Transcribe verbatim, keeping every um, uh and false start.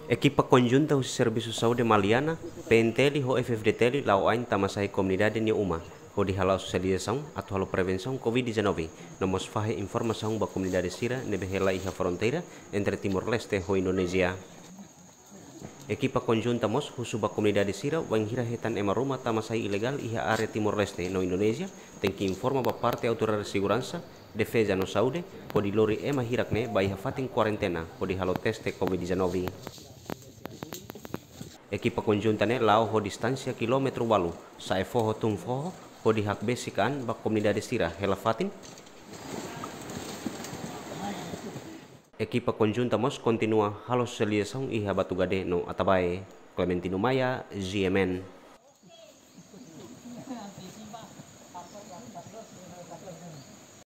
Ekipa konjunta husi Servisu Saúde Maliana, P N T L ho F F D T L la'o ain tama sai komunidade nia uma, hodi hala'o sosializasaun atu halo prevensaun Covid dezanove, no mós fahe informasaun ba komunidade sira ne'ebé hela iha fronteira entre Timor-Leste ho Indonézia. Ekipa konjunta mós husu ba komunidade sira wainhira hetan ema ruma tama sai ilegál iha área Timor-Leste no Indonézia, tenke informa ba parte autoridade seguransa, defeza no saúde, hodi lori ema hirak ne'e ba iha fatin kuarentena, hodi halo teste Covid dezanove. Ekipa konjunta ne'e la'o ho distánsia kilómetru ualu, sa'e foho tun foho, hodi hakbesik an ba komunidade sira hela fatin. Ekipa konjunta mós kontinua halo sosializasaun iha Batugade no Atabae. Clementino Maia, G M N.